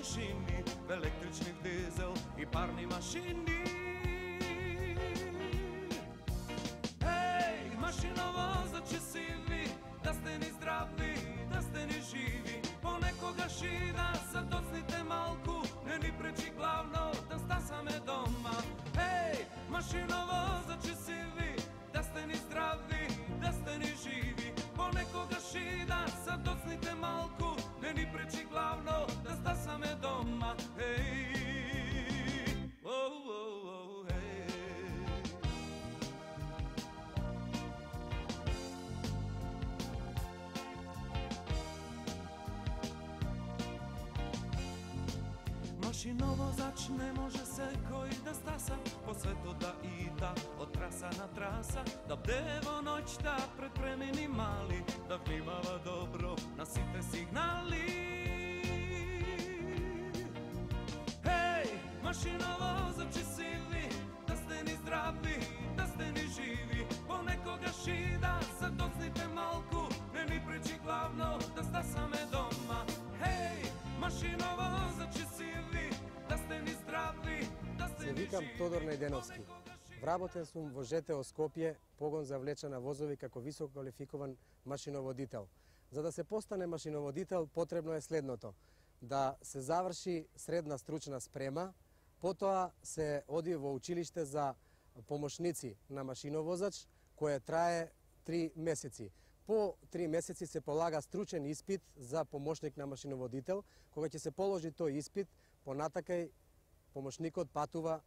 машини, в електрични, в дизел и парни машини. Ей, машиновозачи си ви, да сте ни здрави, да сте ни живи. Понекогаш и да се доцните малку, не ни пречи главно да стасаме дома. Ей, машиновозачи си ви, да сте ни здрави, да сте ни живи. Понекогаш и да се доцните малку, не ни пречи главно да стасаме дома. Ей, оу, ей. Машиновозач не може секој да стаса по светот да ита од траса на траса, да бде во ноќта пред премини мали, да внимава добро на сите сигнали. Хеј, машиновозачи си ви, да сте ни здрави, да сте ни живи. Понекогаш и да се доцните малку, не ни пречи главно да стасаме дома. Хеј, машиновозачи си ви, да сте ни здрави, да сте ни живи. Се викам Тодор Најденовски. Вработен сум во ЖТО Скопје, погон за влечена возови како висококвалификуван машиноводител. За да се постане машиноводител потребно е следното: да се заврши средна стручна спрема, потоа се оди во училиште за помошници на машиновозач, кое трае 3 месеци. По 3 месеци се полага стручен испит за помошник на машиноводител. Кога ќе се положи тој испит, понатакај помошникот патува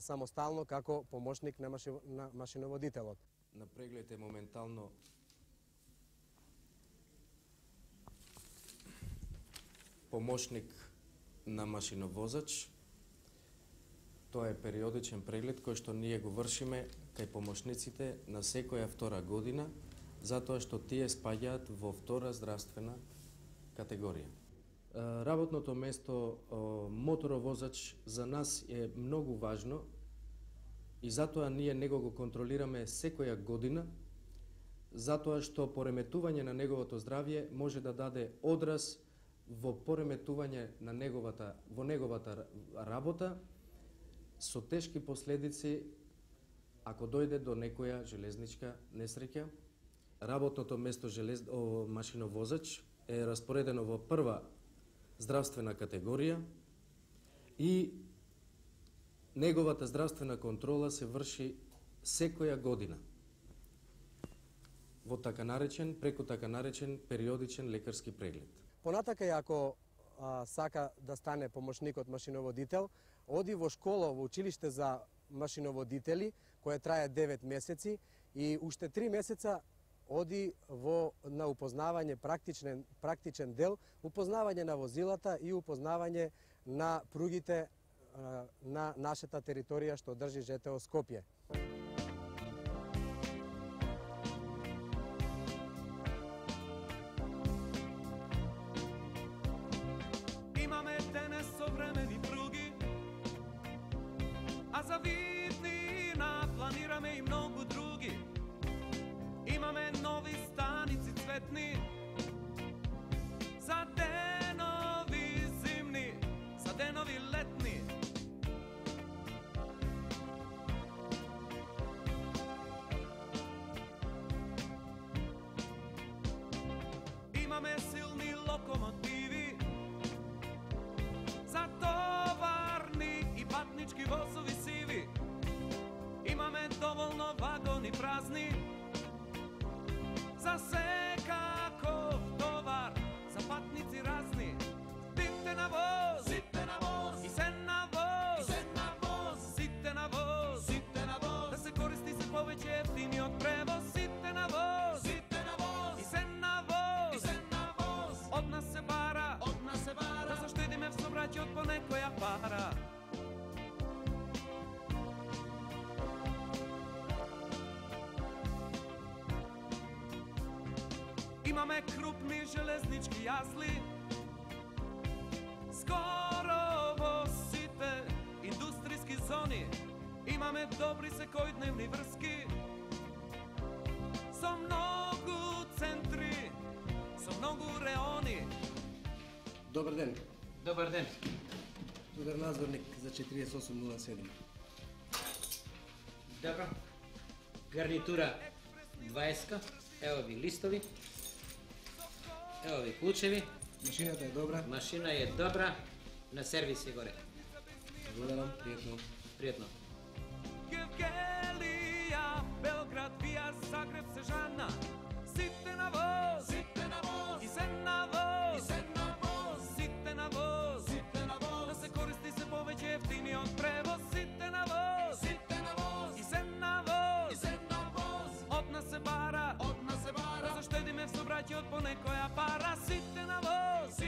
самостално како помошник на машиноводителот. На преглед е моментално помошник на машиновозач. Тоа е периодичен преглед кој што ние го вршиме кај помошниците на секоја втора година, затоа што тие спаѓаат во втора здравствена категорија. Работното место моторовозач за нас е многу важно и затоа ние него го контролираме секоја година, затоа што пореметување на неговото здравје може да даде одраз во пореметување на неговата работа со тешки последици ако дојде до некоја железничка несреќа. Работното место машиновозач е распоредено во прва здравствена категорија и неговата здравствена контрола се врши секоја година во преку така наречен периодичен лекарски преглед. Понатака, ако сака да стане помошникот машиноводител, оди во школа, во училиште за машиноводители, кое трае 9 месеци и уште 3 месеца оди на упознавање практичен дел, упознавање на возилата и упознавање на пругите на нашата територија што држи ЖТО Скопје. Имаме денес современи пруги, а за виднина планираме и многу други. Имаме нови станици цветни, за денови зимни, за денови летни. Имаме силни локомотиви, за товарни и патнички возови сиви. Имаме доволно вагони празни, за секаков товар, за патници разни. Дите на воз, сите на воз, и се на воз, и се на воз, сите на воз, сите на воз. Да се користи се повеќе ефтиниот превоз. Сите на воз, сите на воз, и се на воз, и се на воз. Од нас се бара, да заштедиме в собраќајот по некоја пара. Имаме крупни железнички јазли, скоро во сите индустријски зони. Имаме добри секојдневни врски, со многу центри, со многу реони. Добар ден. Добар ден. Удар надзорник за 4807. Добро. Гарнитура 20, ево ви листови, ево ви клучеви. Машината е добра. Машина е добра, на сервис е горе. Благодарам, пријатно. Пријатно. Гевгелија, Белград, Вија, Загреб, Сежана. Сите на воз, и се на воз, сите на воз, да се користи се повеќе ефтиниот превоз. Сите на воз, и се на воз, од нас се бара, да заштедиме в собраќајот по некоја пара. Сите на воз,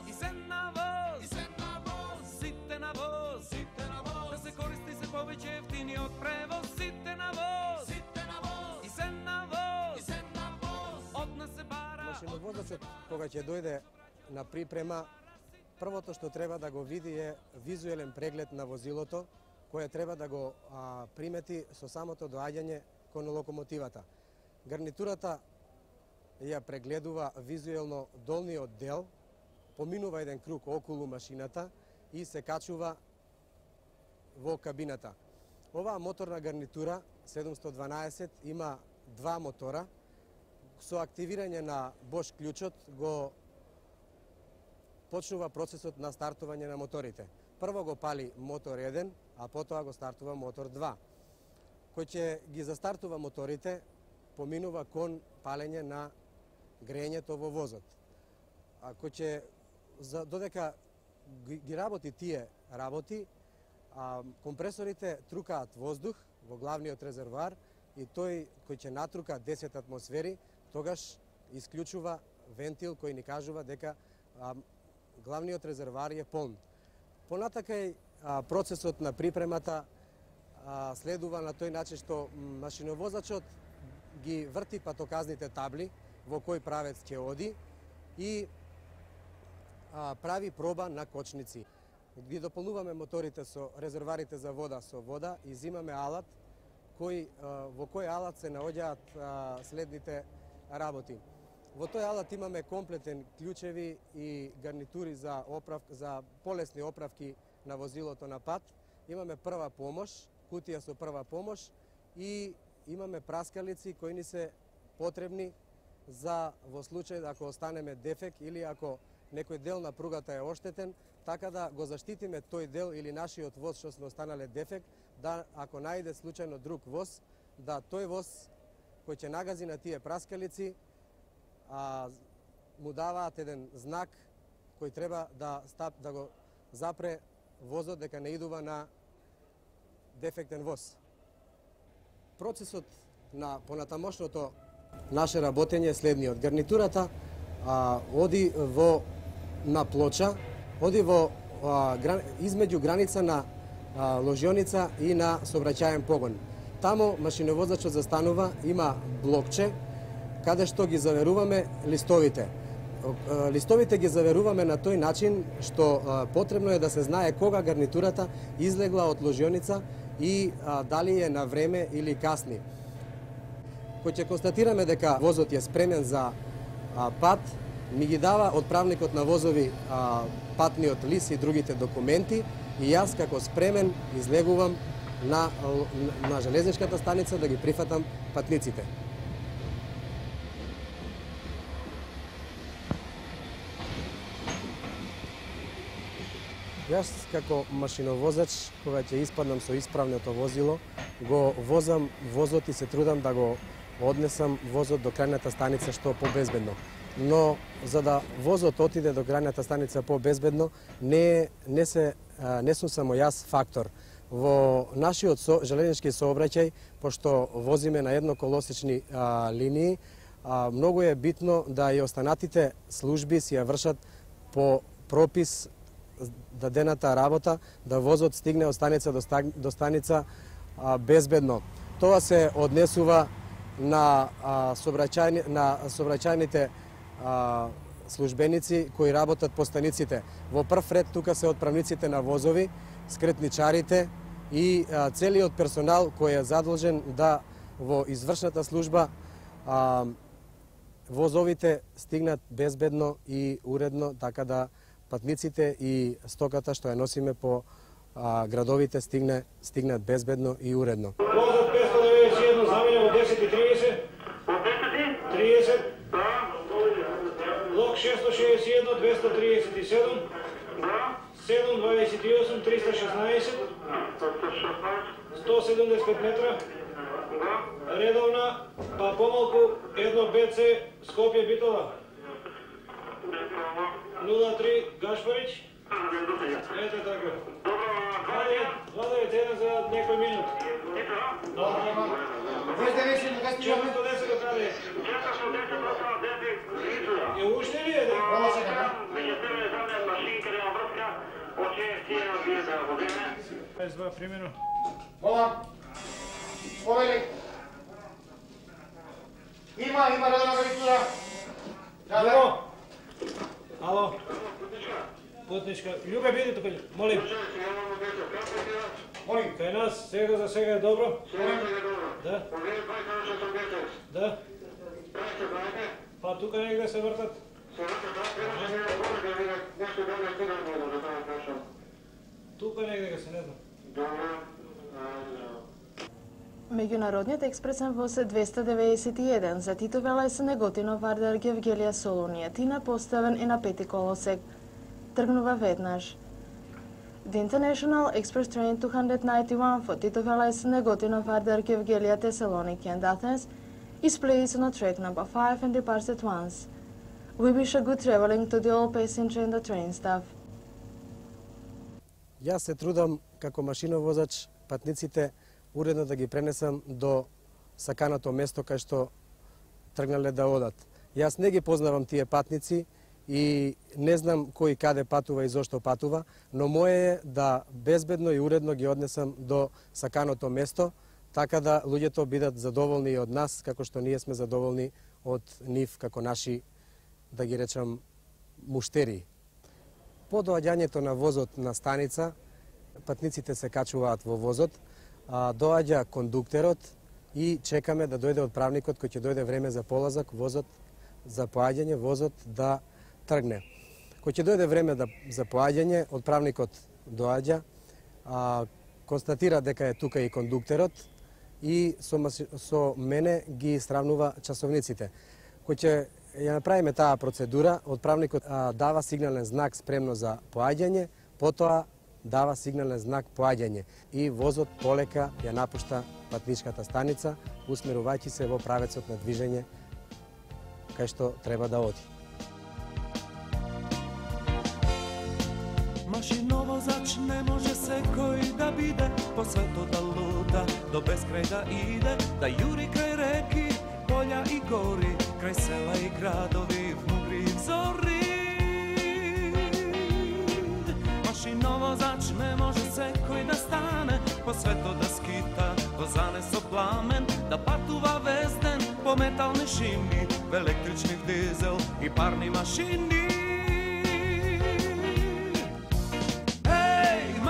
и се на воз, сите на воз, да се користи се повеќе ефтиниот превоз. Сите на воз, и се на воз, од нас се бара. Машиновозачот, кога ќе дојде на припрема, првото што треба да го види е визуелен преглед на возилото, кое треба да го примети со самото доаѓање кон локомотивата. Гарнитурата ја прегледува визуелно долниот дел, поминува еден круг околу машината и се качува во кабината. Оваа моторна гарнитура 712 има два мотора. Со активирање на Bosch клучот го почнува процесот на стартување на моторите. Прво го пали мотор 1, а потоа го стартува мотор 2. Кој ќе ги застартува моторите, поминува кон палење на грејењето во возот. Кој ќе, додека ги работи тие работи, компресорите трукаат воздух во главниот резервоар и тој кој ќе натрука 10 атмосфери, тогаш исклучува вентил кој ни кажува дека главниот резервоар е полн. Понатака процесот на припремата следува на тој начин што машиновозачот ги врти патоказните табли во кој правец ќе оди и прави проба на кочници. Ги дополнуваме моторите со резервоарите за вода со вода и земаме алат во кој алат се наоѓаат следните работи. Во тој алат имаме комплетен клучеви и гарнитури за полесни оправки на возилото на пат. Имаме прва помош, кутија со прва помош и имаме праскалици кои ни се потребни за во случај ако останеме дефект или ако некој дел на пругата е оштетен, така да го заштитиме тој дел или нашиот воз што сме останале дефект, да ако најде случајно друг воз, да тој воз кој ќе нагази на тие праскалици му даваат еден знак кој треба да го запре возот дека не идува на дефектен воз. Процесот на понатамошното наше работење е следниот. Гарнитурата оди на плоча, оди измеѓу граница на ложионица и на сообраќаен погон. Таму машиновозачот застанува, има блокче, каде што ги заверуваме листовите. Листовите ги заверуваме на тој начин што потребно е да се знае кога гарнитурата излегла од ложионица и дали е на време или касни. Кој ќе констатираме дека возот е спремен за пат, ми ги дава отправникот на возови патниот лист и другите документи и јас како спремен излегувам на железничката станица да ги прифатам патниците. Јас како машиновозач, кога ќе испаднам со исправното возило, го возам возот и се трудам да го однесам возот до крајната станица што побезбедно. Но за да возот отиде до крајната станица побезбедно, не сум само јас фактор. Во нашиот железнички сообраќај, пошто возиме на едноколосечни линии, многу е битно да и останатите служби си ја вршат по пропис дадената работа, да возот стигне од станица до станица безбедно. Тоа се однесува на сообраќајните службеници кои работат по станиците. Во прв ред тука се отправниците на возови, скретничарите и целиот персонал кој е задолжен да во извршната служба возовите стигнат безбедно и уредно, така да патниците и стоката што ја носиме по градовите стигнат безбедно и уредно. Возот 591 заменя во 10:30. 30. Лок 661 237. 728 316. 175 метра. Редовна, па помалку 1 БЦ Скопје Битола. 03 Гашпарич. Ете така. Владе, тена за некој минут. Чето 10 до каде? Е уште ли е? Меѓу тебе замен машинка, нема врска, од 6 бие да го време. 22 примерно. Мола. Повели. Има редовна гарнитура. Ало. Ало. Путничка. Љубе, биди тука, молим. Молим. Кај нас сега за сега е добро? Да. Да. Па тука негде се вртат. Тука негде се, не знам. Меѓународниот експресен воз е 291 за Тито Велесен Неготино Вардар Гевгелија Солунија Тина поставен и на 5 колосек. Тргнува веднаш. The International Express Train 291 for Tito Velesен Negotino Vardar Gevgeliya Thessaloniki and Athens is placed on track number 5 and departs at once. We wish a good traveling to the all passenger and the train staff. Јас се трудам како машиновозач патниците уредно да ги пренесам до саканото место кај што тргнале да одат. Јас не ги познавам тие патници и не знам кој каде патува и зошто патува, но моје е да безбедно и уредно ги однесам до саканото место, така да луѓето бидат задоволни и од нас, како што ние сме задоволни од нив како наши, да ги речам, муштери. По доаѓањето на возот на станица, патниците се качуваат во возот, доаѓа кондуктерот и чекаме да дојде отправникот кој ќе дојде време за полазак, возот за поаѓање, возот да тргне. Кој ќе дојде време за поаѓање, отправникот доаѓа, констатира дека е тука и кондуктерот и со мене ги сравнува часовниците. Кој ќе ја направиме таа процедура, отправникот дава сигнален знак спремно за поаѓање, потоа дава сигнален знак поаѓање и возот полека ја напушта патничката станица, усмерувајќи се во правецот на движење кај што треба да оди. Машиновозач не може секој да биде, по светот да лута, до безкрај да иде, да јури крај реки, полја и гори, крај села и градови, внутри и зори. Машиновозач не може секој да стане, по светот да скита, до занесо пламен, да патува везден, по метални шини, в електрични дизел и парни машини.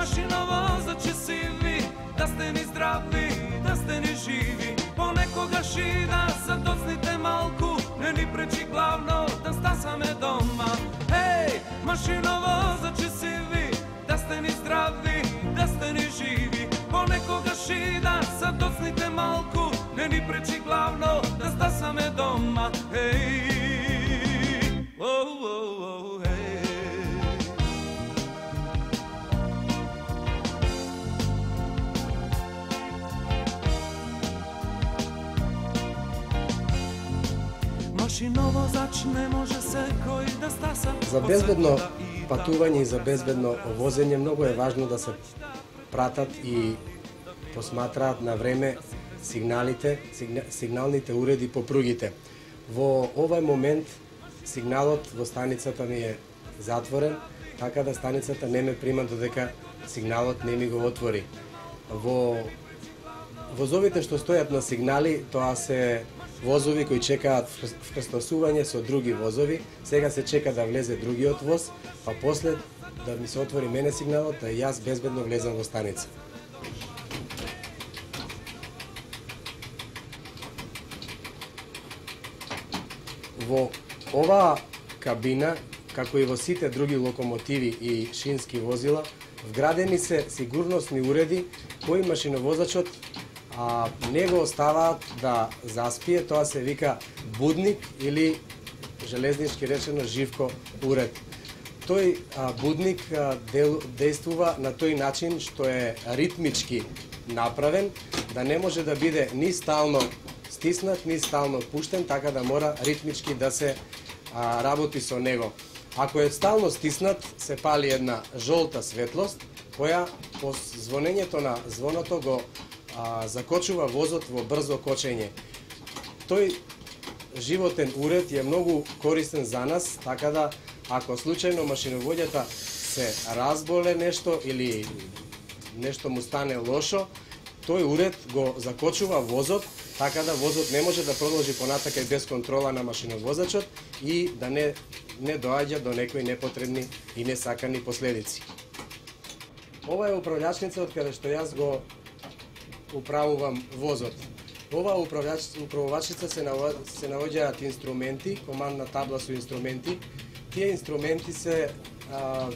Машиновозачи си ви, да сте ни здрави, да сте ни живи. Понекогаш и да се доцните малку, не ни пречи главно да стасаме дома. Ей, машиновозачи си ви, да сте ни здрави, да сте ни живи. Понекогаш и да се доцните малку, не ни пречи главно да стасаме дома. Ей, машиновозач не може секој да стаса. За безбедно патување и за безбедно возење многу е важно да се пратат и посматраат на време сигналните уреди по пругите. Во овој момент сигналот во станицата ми е затворен, така да станицата не ме прима додека сигналот не ми го отвори. Во возовите што стојат на сигнали, тоа се возови кои чекаат вкрстосување со други возови. Сега се чека да влезе другиот воз, па после да ми се отвори мене сигналот, да јас безбедно влезам во станица. Во оваа кабина како и во сите други локомотиви и шински возила, вградени се сигурносни уреди кои машиновозачот не го оставаат да заспие, тоа се вика будник или железнички речено живко уред. Тој будник действува на тој начин што е ритмички направен, да не може да биде ни стално стиснат, ни стално пуштен, така да мора ритмички да се работи со него. Ако е стално стиснат, се пали една жолта светлост, која по звонењето на звоното го закочува возот во брзо кочење. Тој животен уред е многу користен за нас, така да ако случајно машиновоѓата се разболе нешто или нешто му стане лошо, тој уред го закочува возот, така да возот не може да продолжи понатака без контрола на машиновозачот и да не доаѓа до некои непотребни и несакани последици. Ова е управлячница од каде што јас го управувам возот. Ова управувачница се наоѓаат инструменти, командна табла со инструменти. Тие инструменти се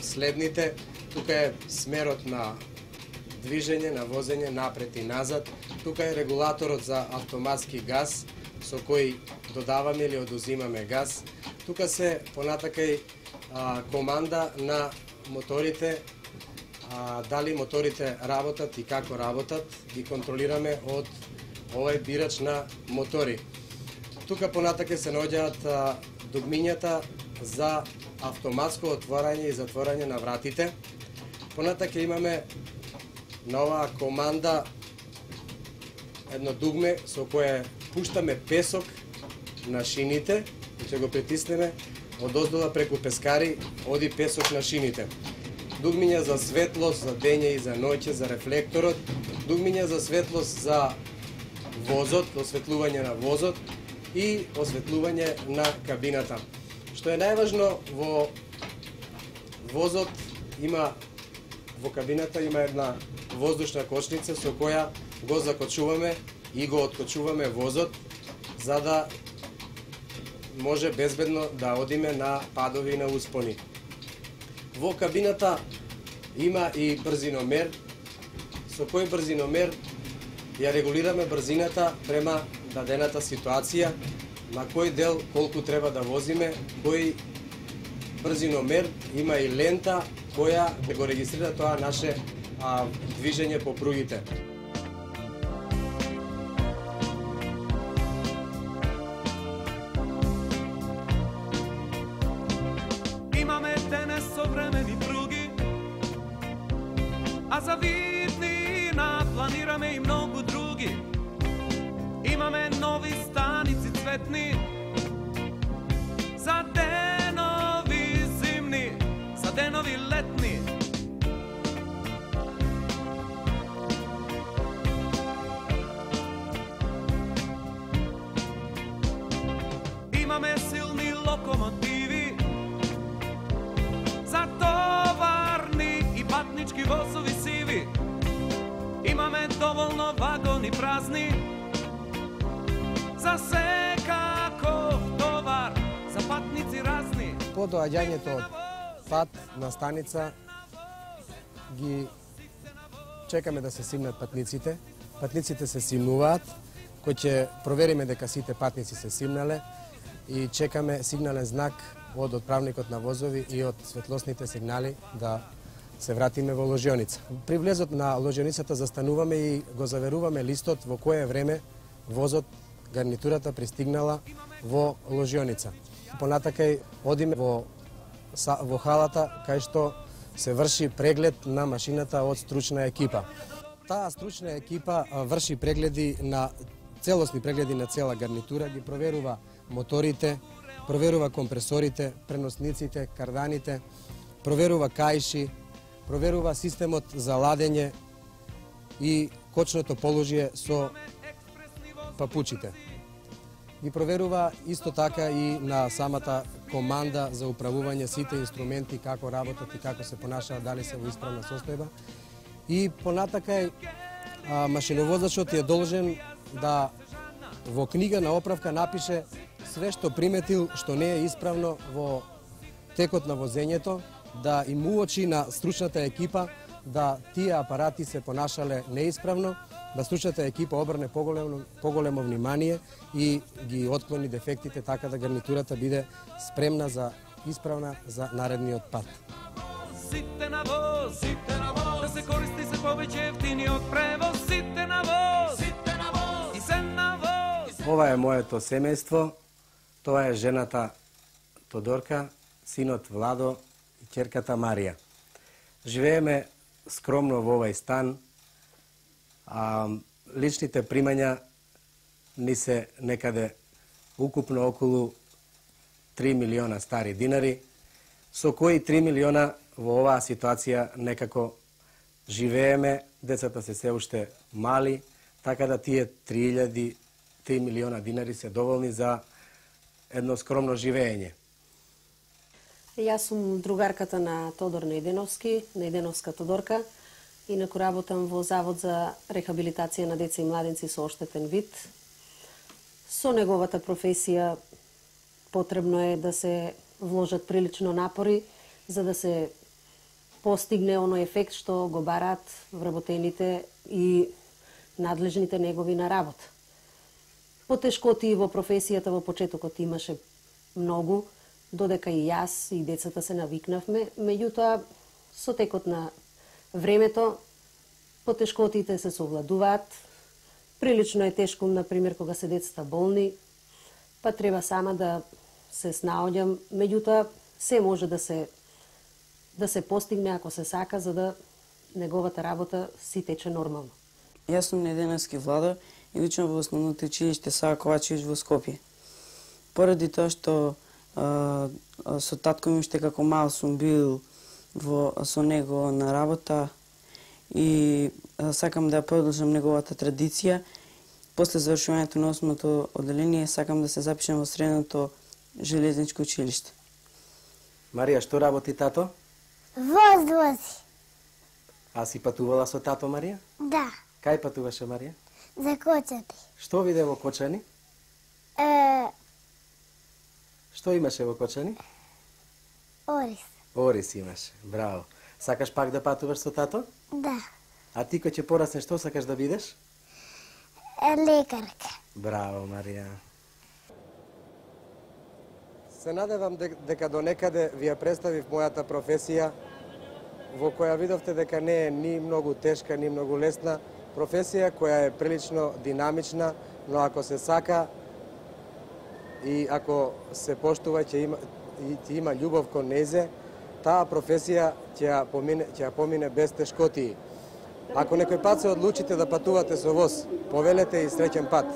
следните. Тука е смерот на движење, на возење напред и назад. Тука е регулаторот за автоматски газ, со кој додаваме или одузимаме газ. Тука се понатака и команда на моторите, дали моторите работат и како работат, ги контролираме од овој бирач на мотори. Тука понатака се наоѓаат дугмињата за автоматско отворање и затворање на вратите. Понатака имаме на оваа команда едно дугме со кое пуштаме песок на шините и ќе го притиснеме од оздола преку пескари, оди песок на шините. Дугмиња за светлост, за дење и за ноќе, за рефлекторот, дугмиња за светлост за возот, осветлување на возот и осветлување на кабината. Што е најважно, во возот во кабината има една воздушна кочница со која го закочуваме и го откочуваме возот, за да може безбедно да одиме на падови и на успони. Во кабината има и брзиномер, со кој брзиномер ја регулираме брзината према дадената ситуација, на кој дел колку треба да возиме, кој брзиномер има и лента која го регистрира тоа наше движење по пругите. Имаме денес современи пруги, а за виднина планираме и многу други. Имаме нови станици цветни, за денови зимни, за денови летни. Имаме силни локомотиви, за товарни и патнички возови сиви. Имаме доволно вагони празни, за секако товар, за патници разни. По доаѓањето од пат на станица ги чекаме да се симнат патниците. Патниците се симнуваат, кој ќе провериме дека сите патници се симнале и чекаме сигнален знак од отправникот на возови и од светлосните сигнали да се вратиме во ложионица. При влезот на ложионицата застануваме и го заверуваме листот во кое време возот, гарнитурата пристигнала во ложионица. Понатака одиме во халата кај што се врши преглед на машината од стручна екипа. Таа стручна екипа врши целосни прегледи на цела гарнитура, ги проверува моторите, проверува компресорите, преносниците, карданите, проверува каиши, проверува системот за ладење и кочното положие со папучите. Ги проверува исто така и на самата команда за управување сите инструменти, како работат и како се понашаат, дали се во исправна состојба. И понатака машиновозачот е должен да во книга на оправка напише све што приметил што не е исправно во текот на возењето, да им уочи на стручната екипа да тие апарати се понашале неисправно, да стручната екипа обрне поголемо внимание и ги отклони дефектите така да гарнитурата биде спремна за исправна за наредниот пат. Сите на воз, да се користи се повеќе ефтиниот превоз. Сите на воз, и се на воз. Ова е моето семејство, тоа е жената Тодорка, синот Владо и ќерката Марија. Живееме скромно во овај стан, а личните примања ни се некаде укупно околу 3 милиона стари динари, со кои 3 милиона во оваа ситуација некако живееме, децата се уште мали, така да тие 3 милиона динари се доволни за едно скромно живење. Јас сум другарката на Тодор Најденовски, Најденовска Тодорка. Инаку работам во Завод за рехабилитација на деца и младенци со оштетен вид. Со неговата професија потребно е да се вложат прилично напори за да се постигне оној ефект што го бараат вработените и надлежните негови на работа. Потешкоти во професијата во почетокот имаше многу, додека и јас и децата се навикнавме, меѓутоа со текот на времето потешкотите се совладуваат. Прилично е тешко, например, кога се децата болни, па треба сама да се снаоѓам, меѓутоа се може да се постигне ако се сака, за да неговата работа си тече нормално. Јас сум Најденовски Владо и учам во основното училиште Сава Ковачевич во Скопје. Поради тоа што со татко ми уште како мал сум бил со него на работа и сакам да продолжам неговата традиција. После завршувањето на 8-то одделение сакам да се запишам во средното железничко училиште. Марија, што работи тато? Вози. А си патувала со тато, Марија? Да. Кај патуваше, Марија? За Кочани. Што виде во Кочани? Што имаше во Кочани? Орис. Орис имаше, браво. Сакаш пак да патуваш со тато? Да. А ти кој ќе пораснеш, што сакаш да бидеш? Лекарка. Браво, Марија. Се надевам дека до некаде ви ја представив мојата професија, во која видовте дека не е ни многу тешка, ни многу лесна, професија која е прилично динамична, но ако се сака и ако се поштува ќе има љубов кон незе, таа професија ќе помине без тешкотии. Ако некој пат се одлучите да патувате со воз, повелете и среќен пат.